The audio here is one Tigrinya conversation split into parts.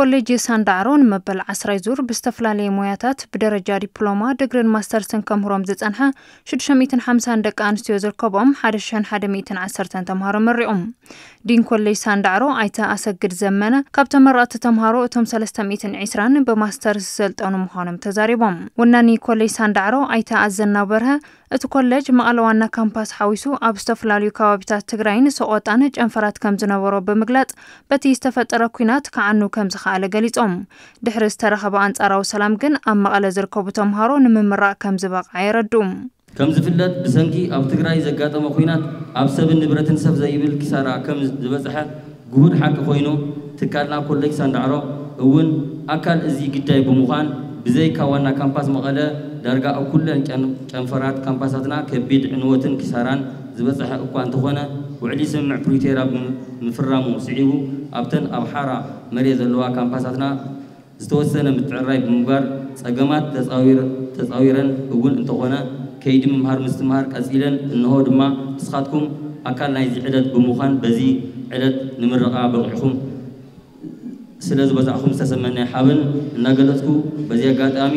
ኮሌጅ ሳንዳዕሮ ንመበል ዓስራይ ዙር ብዝተፈላለየ ሞያታት ብደረጃ ዲፕሎማ፣ ድግሪን ማስተርስን ከምህሮም ዝጸንሐ ሽዱሽተ ሚእትን ሓምሳን ደቂ ኣንስትዮ ዝርከቦም ሓደ ሽሕን ሓደ ሚእትን ዓሰርተን ተምሃሮ መሪቖም። ዲን ኮሌጅ ሳንዳዕሮ ኣይተ ኣሰግድ ዘመነ ካብ ተመረቕቲ ተምሃሮ እቶም ሰለስተ ሚእትን ዕስራን ብማስተርስ ዝሰልጠኑ ምዃኖም ተዛሪቦም። ወናኒ ኮሌጅ ሳንዳዕሮ ኣይተ ኣዘናው በርሀ እቲ ኮሌጅ መቐለ ዋና ካምፓስ ሓዊሱ ኣብ ዝተፈላለዩ ከባቢታት ትግራይን ሰቆጣን ጨንፈራት ከም ዝነበሮ ብምግላጽ፣ በቲ ዝተፈጠረ ኲናት ክዓኑ ከም ዝኸኣለ ገሊጾም። ድሕሪ ዝተረኸበ ኣንጻራዊ ሰላም ግን ኣብ መቐለ ዝርከቡ ተምሃሮ ንምምራቕ ከም ዝበቕዐ የረድኡ። ከም ዝፍለጥ፣ ብሰንኪ ኣብ ትግራይ ዘጋጠመ ኲናት ኣብ ሰብን ንብረትን ሰብ ዘይብል ኪሳራ ከም ዝበጽሐ ግሁድ ሓቂ ኮይኑ፣ ትካልና ኮሌጅ ሳንዳዕሮ እውን ኣካል እዚ ግዳይ ብምዃን፣ ብዘይካ ዋና ካምፓስ መቐለ፣ ዳርጋ ኣብ ኩለን ጨን-፣ ጨንፈራት ካምፓሳትና ከቢድ ዕንወትን ኪሳራን ዝበጽሐ እኳ እንተኾነ፣ ውዕሊ ስምምዕ ፕሪቶርያ ብምፍራሙ ስዒቡ፣ ኣብተን ኣብ ሓራ መሬት ዘለዋ ካምፓሳትና ዝተወሰነ ምትዕርራይ ብምግባር፣ ጸገማት ተጻዊር-፣ ተጻዊረን እውን እንተኾነ፣ ከይዲ ምምሃር ምስትምሃር ቀጺለን፣ እንሆ ድማ ንስኻትኩም ኣካል ናይዚ ዕለት ብምዃን፣ በዚ ዕለት ንምረቓ በቒዕኹም ስለ ዝበጻሕኹም ዝተሰመኒ ሓበን እናገለጽኩ፣ በዚ ኣጋጣሚ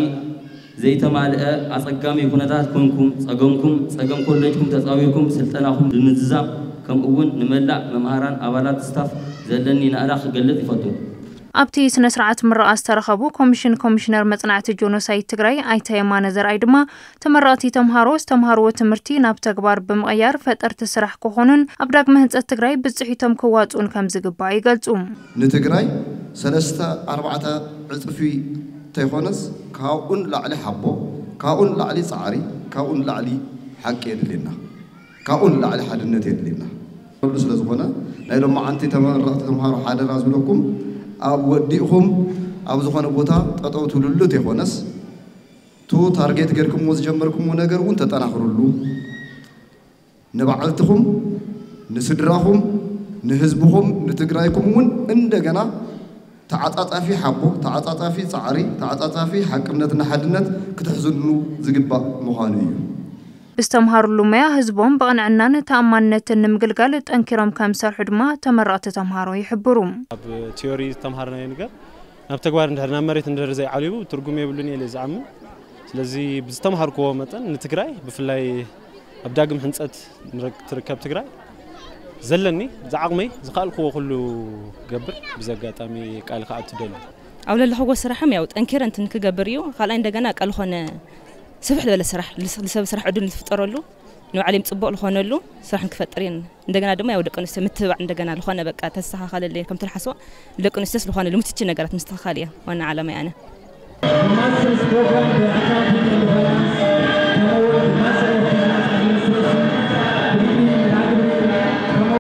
ዘይተማልአ ኣጸጋሚ ኩነታት ኮንኩም፣ ጸገምኩም፣ ጸገም ኮሌጅኩም ተጻዊርኩም ስልጠናኹም ብምዝዛም፣ ከምኡ እውን ንመላእ መምሃራን ኣባላት ስታፍ ዘለኒ ናእዳ ክገልጽ ይፈቱ። ኣብቲ ስነ ስርዓት ምረቓ ዝተረኸቡ ኮሚሽን ኮሚሽነር መጽናዕቲ ጆኖሳይድ ትግራይ ኣይተ የማነ ዘርኣይ ድማ፣ ተመረቕቲ ተምሃሮ ዝተምሃርዎ ትምህርቲ ናብ ተግባር ብምቕያር ፈጠርቲ ስራሕ ክኾኑን ኣብ ዳግመ ህንጸት ትግራይ ብጽሒቶም ክዋጽኡን ከም ዝግባእ ይገልጹ። ንትግራይ ሰለስተ ኣርባዕተ ዕጽፊ እንተይኮነስ፣ ካብኡን ላዕሊ ሓቦ፣ ካብኡን ላዕሊ ጻዕሪ፣ ካብኡን ላዕሊ ሓቂ የድልየና። ካብኡን ላዕሊ ሓድነት የድልየና። ኩሉ ስለ ዝኾነ፣ ናይ ሎማዓንቲ ተመረቕቲ ተምሃሮ ሓደራ ዝብለኩም፣ ኣብ ወዲእኹም ኣብ ዝኾነ ቦታ ጠጠው ትብልሉ ተይኮነስ፣ ቱ ታርጌት ጌርኩምዎ ዝጀመርኩምዎ ነገር እውን ተጠናኽሩሉ። ንባዕልትኹም፣ ንስድራኹም፣ ንህዝብኹም፣ ንትግራይኩም እውን እንደገና ተዓጻጻፊ ሓቦ፣ ተዓጻጻፊ ጻዕሪ፣ ተዓጻጻፊ ሓቅነትና ሓድነት ክትሕዝኑ ዝግባእ ምዃኑ እዩ። ብዝተምሃሩሉ ሞያ ህዝቦም ብቕንዕናን ተኣማንነትን ንምግልጋል ጠንኪሮም ከም ዝሰርሑ ድማ ተመረቕቲ ተምሃሮ ይሕብሩ። ኣብ ቲዮሪ ዝተምሃርናዮ ነገር ናብ ተግባር እንድሕር ናብ መሬት እንድሕር ዘይዓሊቡ ትርጉም የብሉን እየ ኢለ ዝኣምን። ስለዚ ብዝተምሃርክዎ መጠን ንትግራይ ብፍላይ ኣብ ዳግም ሕንጸት ንረክ-፣ ትርከብ ትግራይ ዘለኒ ዝዓቕመይ ዝኸኣልክዎ ኩሉ ክገብር ብዚ ኣጋጣሚ ቃል ክኣቱ ደሊ። ኣብ ለለኽዎ ስራሕም ያው ጠንኪረ እንትን ክገብር እዩ። ካልኣይ እንደገና ቃል ኾነ ስፍሕ ዝበለ ስራሕ ልስ-፣ ልሰብ ስራሕ ዕድል ዝፍጠረሉ ንባዕለይም ጽቡቕ ዝኾነሉ ስራሕ ንክፈጥር እየን። እንደገና ድማ ያው ደቂ ኣንስትዮ ምትብባዕ እንደገና ዝኾነ በቃ ተስተኻኸለለይ ከም ትልሓስዋ ደቂ ኣንስትዮስ ዝኾነ ልምትቺ ነገራት ምስትኻኻል እያ ዋና ዓላማ ኣነ።